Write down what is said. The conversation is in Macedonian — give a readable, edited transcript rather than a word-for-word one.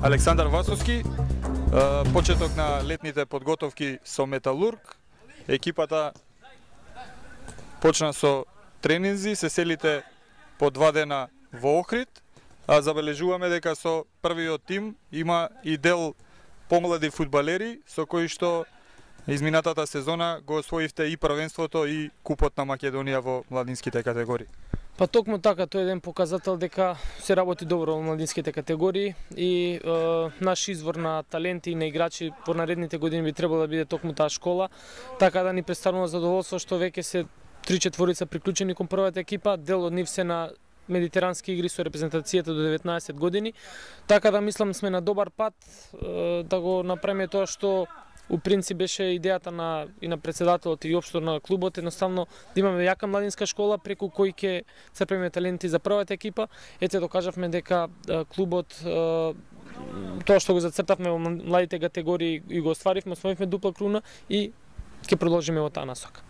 Александар Васовски, почеток на летните подготовки со Металург. Екипата почна со тренинзи, се селите по 2 дена во Охрид, а забележуваме дека со првиот тим има и дел помлади фудбалери со кои што изминатата сезона го освоивте и првенството и купот на Македонија во младинските категории. Па токму така, тој е еден показател дека се работи добро во младинските категории и наш извор на таленти и на играчи по наредните години би требало да биде токму таа школа, така да ни представува задоволство што веќе се 3/4 приклучени кон првата екипа, дел од нив се на медитерански игри со репрезентацијата до 19 години, така да мислам сме на добар пат да го направиме тоа што у принцип беше идејата и на председателот и општо на клубот, едноставно да имаме јака младинска школа преку кој ќе црпиме таленти за првата екипа. Ете докажавме дека клубот тоа што го зацртавме во младите категории и го остваривме, освоивме дупла круна и ќе продолжиме во таа насока.